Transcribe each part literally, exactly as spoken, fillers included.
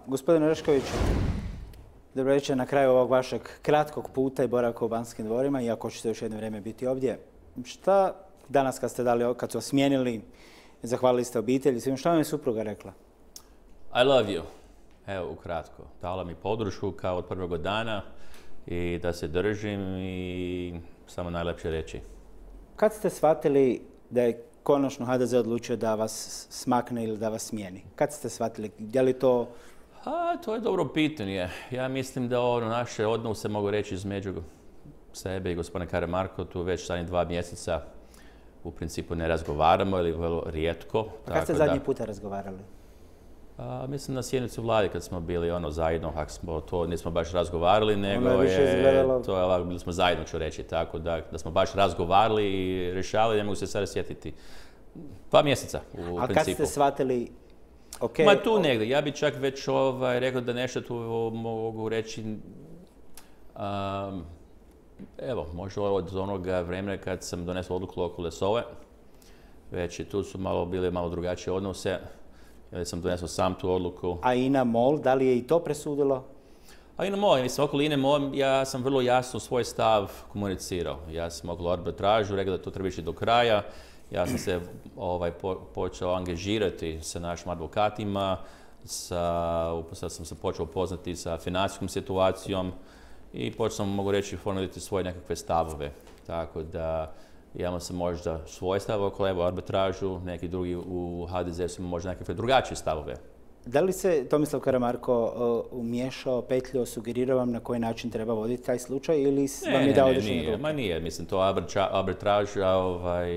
Gospodine Oreškoviću, dobro večer na kraju ovog vašeg kratkog puta i boravka u Banskim dvorima, iako ćete još jedno vrijeme biti ovdje. Šta danas kad ste dali, kad su vas smijenili, zahvalili ste obitelji, svim, šta vam je supruga rekla? I love you. Evo, ukratko. Dala mi podršku kao od prvog dana i da se držim i samo najlepše reći. Kad ste shvatili da je konačno H D Z odlučio da vas smakne ili da vas smijeni? Kad ste shvatili? Je li to... A, to je dobro pitanje. Ja mislim da ono naše odnose, mogu reći, između sebe i gospodina Karamarko, tu već zadnjih dva mjeseca u principu ne razgovaramo ili vrlo rijetko. A kad ste zadnji puta razgovarali? A, mislim na sjednicu vlade kad smo bili ono zajedno, ako smo to nismo baš razgovarali, nego ono je, je izgledalo... to je ovako, bili smo zajedno, ću reći, tako da, da smo baš razgovarali i rješavali, ne mogu se sada sjetiti. Dva mjeseca u A principu. A kad ste shvatili, ok... Ma tu negdje, ja bi čak već ovaj, rekao da nešto tu mogu reći, um, evo, možda od onoga vremena kad sam donesao odluku oko Lesove, već i tu su malo bile malo drugačije odnose. Ja sam donesao sam tu odluku. A INA MOL, da li je i to presudilo? A INA MOL, mislim, okolo INA MOL, ja sam vrlo jasno svoj stav komunicirao. Ja sam okolo arbitražu, rekao da to treba ići do kraja. Ja sam se ovaj, po, počeo angažirati sa našim advokatima, sa, sad sam se počeo upoznati sa financijskom situacijom i počeo sam, mogu reći, formulirati svoje nekakve stavove. Tako da imamo se možda svoje stavove oko evo arbitražu, neki drugi u H D Z su možda nekakve drugačije stavove. Da li se Tomislav Karamarko uh, umiješao, petljio, sugerirao vam na koji način treba voditi taj slučaj ili ne, vam je dao određene ruke? Ma nije, mislim to arbitraža, ovaj,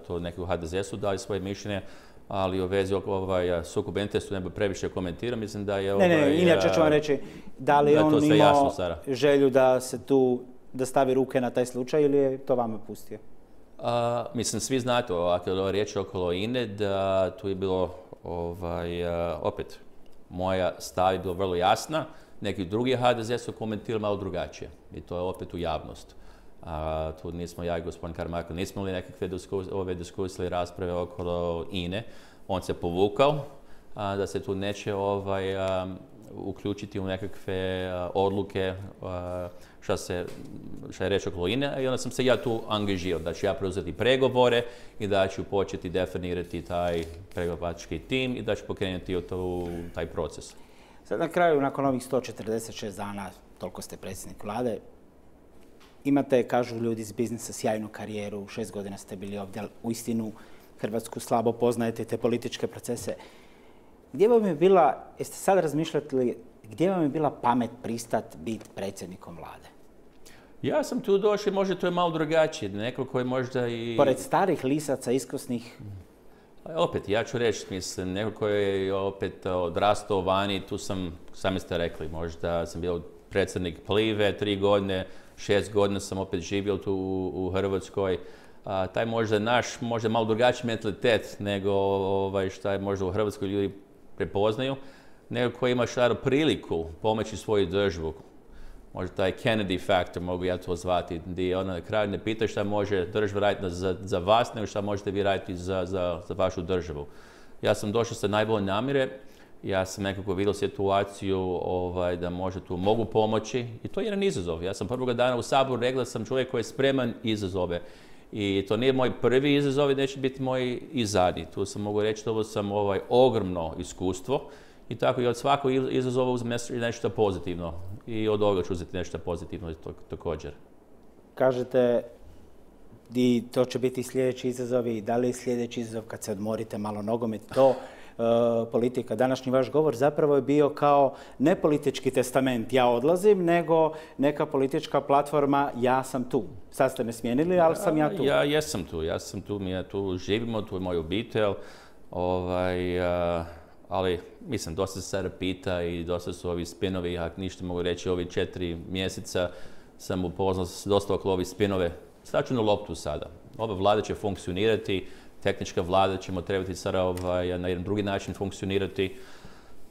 to neki u H D Z su dali svoje mišljenje, ali u vezi ovaj, sukoba interesa ne bi previše komentirao, mislim da je... Ovaj, ne, ne, inače ću vam reći, da li je on imao jasno, želju da se tu, da stavi ruke na taj slučaj ili je to vama pustio? Uh, mislim, svi znate, ako je riječ okolo INE, da tu je bilo, ovaj, uh, opet, moja stav je bila vrlo jasna, neki drugi H D Z su komentirali malo drugačije i to je opet u javnost. Uh, tu nismo, ja i gospodin Karamarko, nismo imali nekakve diskus, ove diskusije i rasprave okolo INE. On se povukao, uh, da se tu neće ovaj, um, uključiti u nekakve uh, odluke uh, šta se, šta je reći okolo INE, i onda sam se ja tu angažirao da ću ja preuzeti pregovore i da ću početi definirati taj pregovarački tim i da ću pokrenuti u taj proces. Sad na kraju, nakon ovih sto četrdeset šest dana, toliko ste predsjednik vlade, imate, kažu ljudi iz biznisa, sjajnu karijeru, šest godina ste bili ovdje, ali uistinu Hrvatsku slabo poznajete, te političke procese. Gdje vam je bila, jeste sad razmišljali, gdje vam je bila pamet pristat biti predsjednikom vlade? Ja sam tu došao, možda to je malo drugačije, neko koji možda i... Pored starih lisaca, iskusnih... Opet, ja ću reći, mislim, neko koji je opet odrastao vani, tu sam, sami ste rekli, možda sam bio predsjednik Plive tri godine, šest godina sam opet živio tu u, u Hrvatskoj. A, taj možda naš, možda malo drugačiji mentalitet nego ovaj, šta je možda u Hrvatskoj ljudi prepoznaju, nego koji ima šaru priliku pomoći svoju državu. Možda taj Kennedy faktor, mogu ja to zvati, gdje ona na kraju ne pita šta može država raditi za, za vas, nego šta možete vi raditi za, za, za vašu državu. Ja sam došao sa najbolje namjere, ja sam nekako vidio situaciju ovaj, da možda tu mogu pomoći i to je jedan izazov. Ja sam prvoga dana u Saboru rekao da sam čovjek koji je spreman izazove. I to nije moj prvi izazov i neće biti moj i zadnji. Tu sam mogu reći da ovo sam ovaj, ogromno iskustvo i tako i od svakog izazova uzem nešto pozitivno i od ovoga ću uzeti nešto pozitivno također. Kažete i to će biti sljedeći izazovi, da li je sljedeći izazov kad se odmorite malo nogomet, to Uh, politika. Današnji vaš govor zapravo je bio kao ne politički testament, ja odlazim, nego neka politička platforma, ja sam tu. Sad ste me smijenili, ali sam ja tu. Ja jesam tu, ja sam tu, mi ja tu živimo, tu je moj obitelj, ovaj, uh, ali mislim, dosta se sada pita i dosta su ovi spinovi, ako ništa mogu reći, ovi četiri mjeseca sam upoznao dosta okolo ovi spinove. Staću na loptu sada. Ova vlada će funkcionirati, tehnička vlada ćemo trebati sada ovaj, na jedan drugi način funkcionirati,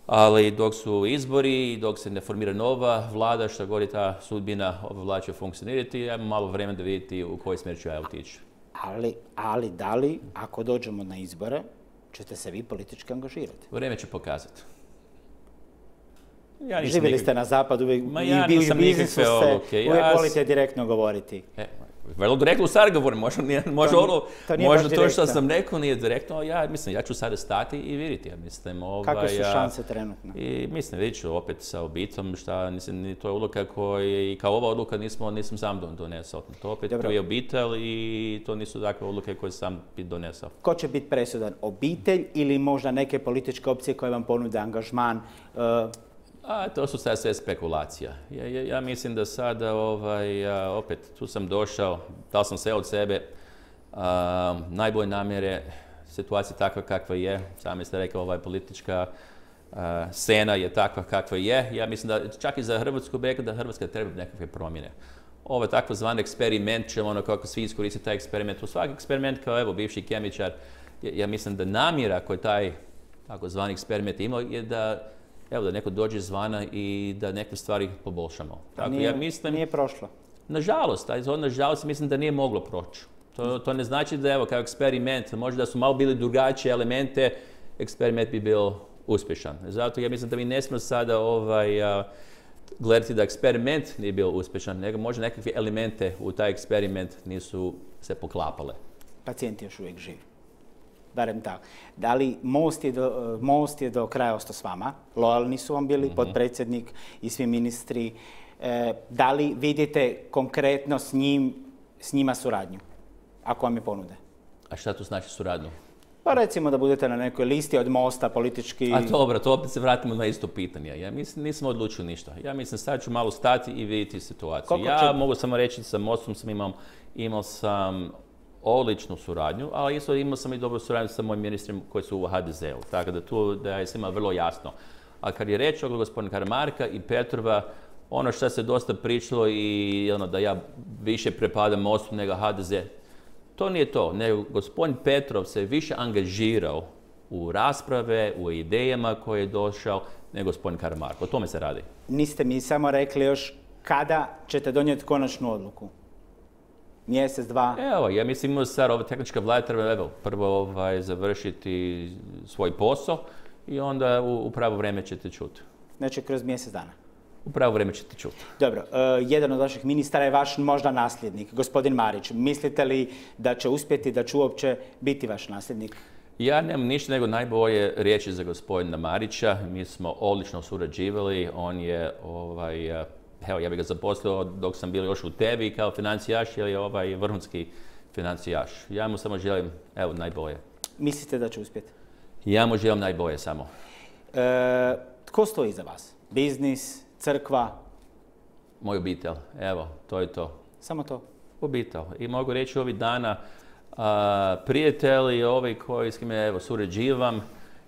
ali dok su izbori, dok se ne formira nova vlada, što god je ta sudbina, ova vlada će funkcionirati, ja imam malo vremena da vidjeti u koji smjer ću ja otići. Ali, ali da li, ako dođemo na izbore, ćete se vi politički angažirati? Vrijeme će pokazati. Ja nisam Živjeli nikak... ste na zapadu, uvijek, Ma ja i u nisam biznisu nikakve ste, odluke. uvijek Ja volite direktno govoriti. E, vrlo direktno sad govorim, možda, nije, možda, To, ono, to nije možda baš to što direktno. sam rekao nije direktno, ali ja mislim, ja ću sada stati i vidjeti. Ja mislim, ovaj, Kakve su ja- šanse trenutno? I mislim, vidjet ću opet sa obitelom, šta, mislim, to je odluka koja, i kao ova odluka nismo, nisam sam don- donesao. To opet Dobro. to je obitelj i to nisu takve odluke koje sam bi donesao. Ko će biti presudan? Obitelj ili možda neke političke opcije koje vam ponude angažman? Uh, A to su sad sve spekulacija. Ja, ja, ja mislim da sada, ovaj, a, opet, tu sam došao, dal sam sve od sebe, a, najbolje namjere, situacija takva kakva je, sami ste rekli, ovaj politička a, scena je takva kakva je. Ja mislim da čak i za Hrvatsku bi rekao da Hrvatska treba nekakve promjene. Ovo takozvani eksperiment će ono kako svi iskoristiti taj eksperiment. U svaki eksperiment kao evo bivši kemičar, ja, ja mislim da namjera koju taj takozvani eksperiment imao je da evo da neko dođe izvana i da neke stvari poboljšamo. Tako, nije, ja mislim, nije prošlo. nažalost, taj zon, nažalost, mislim da nije moglo proći. To, to ne znači da evo kao eksperiment, možda da su malo bili drugačije elemente, eksperiment bi bio uspješan. Zato ja mislim da mi ne smijemo sada ovaj, a, gledati da eksperiment nije bio uspješan, nego možda nekakve elemente u taj eksperiment nisu se poklapale. Pacijent je još uvijek živ. Barem tako. Da li Most je do, Most je do kraja ostao s vama? Lojalni su vam bili, mm-hmm. potpredsjednik i svi ministri. E, da li vidite konkretno s, njim, s njima suradnju? Ako vam je ponude. A šta to znači suradnju? Pa recimo da budete na nekoj listi od Mosta politički... A dobro, to opet se vratimo na isto pitanje. Ja mislim, nisam odlučio ništa. Ja mislim, sad ću malo stati i vidjeti situaciju. Koliko ja će- mogu samo reći, sa Mostom sam imao, imao sam odličnu suradnju, ali isto imao sam i dobru suradnju sa mojim ministrima koji su u ha de zeu. Tako da tu da je svima vrlo jasno. A kad je reč o gospodinu Karamarka i Petrova, ono što se dosta pričalo i ono da ja više prepadam Mostu nego ha de ze, to nije to, nego gospodin Petrov se više angažirao u rasprave, u idejama koje je došao, nego gospodin Karamarko. O tome se radi. Niste mi samo rekli još kada ćete donijeti konačnu odluku. Mjesec, dva. Evo, ja mislim imamo sad ova tehnička vlada treba evo, prvo ovaj, završiti svoj posao i onda u, u pravo vrijeme ćete čuti. Znači kroz mjesec dana. U pravo vrijeme ćete čuti. Dobro, uh, jedan od vaših ministara je vaš možda nasljednik, gospodin Marić. Mislite li da će uspjeti, da će uopće biti vaš nasljednik? Ja nemam ništa nego najbolje riječi za gospodina Marića. Mi smo odlično surađivali. On je, ovaj, evo, ja bih ga zaposlio dok sam bio još u tebi kao financijaš, jer je ovaj vrhunski financijaš. Ja mu samo želim, evo, najbolje. Mislite da će uspjeti? Ja mu želim najbolje samo. E, tko stoji iza vas? Biznis, crkva, Moj obitelj, evo, to je to. samo to? Obitelj. I mogu reći ovih dana, a, prijatelji, ovi koji s kime evo, surađivam,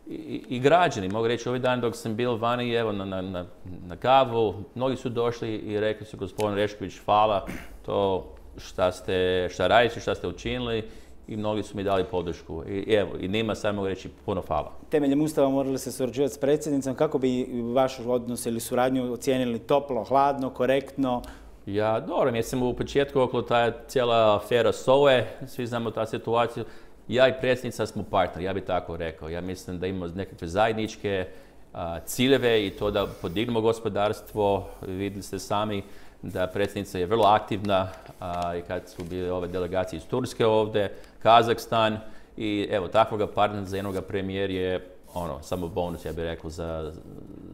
i, i građani, mogu reći ovih dana dok sam bio vani evo, na, na, na, na kavu, mnogi su došli i rekli su gospodin Rešković, hvala to šta ste, šta radite, šta ste učinili i mnogi su mi dali podršku. I evo, i njima sad mogu reći puno hvala. Temeljem Ustava morali se surađivati s predsjednicom. Kako bi vaš odnos ili suradnju ocijenili toplo, hladno, korektno? Ja, dobro, mislim u početku okolo ta cijela afera S O E, svi znamo ta situaciju. Ja i predsjednica smo partneri, ja bih tako rekao. Ja mislim da imamo nekakve zajedničke a, ciljeve i to da podignemo gospodarstvo. Vidjeli ste sami da predsjednica je vrlo aktivna a, i kad su bile ove delegacije iz Turske ovdje, Kazahstan i evo takvoga partnera za jednog premijer je ono, samo bonus, ja bih rekao, za,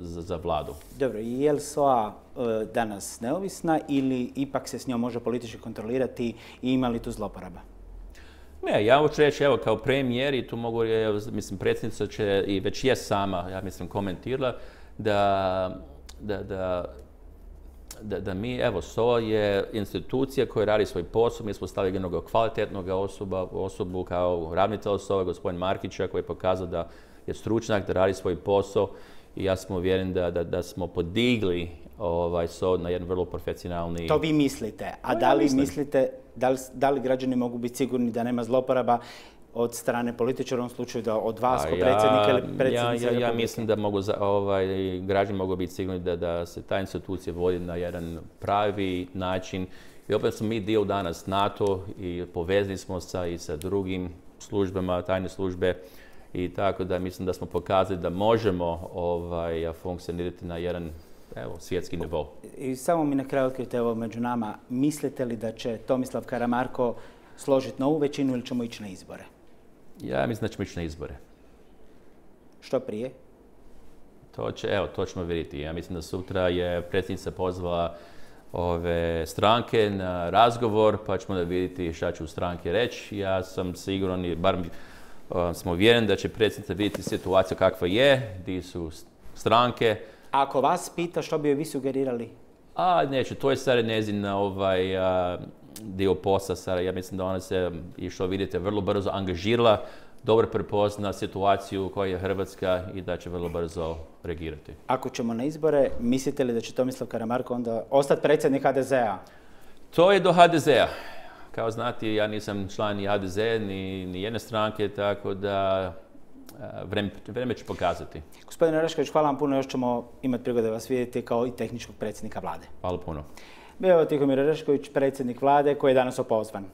za, za vladu. Dobro, je li S O A e, danas neovisna ili ipak se s njom može politički kontrolirati i ima li tu zloporaba? Ne, ja hoću reći, evo, kao premijer i tu mogu, evo, mislim, predsjednica će i već je sama, ja mislim, komentirala da, da, da, da, da mi, evo, S O A je institucija koja radi svoj posao, mi smo stavili jednog kvalitetnog osoba, osobu kao ravnatelj S O A, gospodin Markića, koji je pokazao da je stručnjak, da radi svoj posao i ja sam uvjeren da, da, da smo podigli ovaj, S O A na jedan vrlo profesionalni... To vi mislite. A No, da ja li mislim. mislite, da li, da li građani mogu biti sigurni da nema zloporaba od strane političara, u ovom slučaju da od vas, A ko ja- predsjednika ili ja, predsjednice ja, ja Republike? mislim da mogu, za- ovaj, građani mogu biti sigurni da, da se ta institucija vodi na jedan pravi način. I opet smo mi dio danas NATO i povezani smo sa, i sa drugim službama, tajne službe. I tako da mislim da smo pokazali da možemo ovaj, funkcionirati na jedan evo, svjetski nivo. I samo mi na kraju otkrite ovo među nama. Mislite li da će Tomislav Karamarko složiti novu većinu ili ćemo ići na izbore? Ja mislim da ćemo ići na izbore. Što prije? To će, evo, to ćemo vidjeti. Ja mislim da sutra je predsjednica pozvala ove stranke na razgovor, pa ćemo da vidjeti šta će u stranke reći. Ja sam siguran i bar um, smo uvjeren da će predsjednica vidjeti situaciju kakva je, gdje su stranke. Ako vas pita, što bi joj vi sugerirali? A neću, to je sada njezin ovaj, a, dio posla. Sada. Ja mislim da ona se, i što vidite, vrlo brzo angažirala, dobro prepozna situaciju koja je Hrvatska i da će vrlo brzo reagirati. Ako ćemo na izbore, mislite li da će Tomislav Karamarko onda ostati predsjednik ha de zea? To je do ha de zea. Kao znate, ja nisam član ni ha de zea, ni, ni jedne stranke, tako da vreme, vreme će pokazati. Gospodine Orešković, hvala vam puno, još ćemo imati prigode vas vidjeti kao i tehničkog predsjednika vlade. Hvala puno. Bio je Tihomir Orešković, predsjednik vlade, koji je danas opozvan.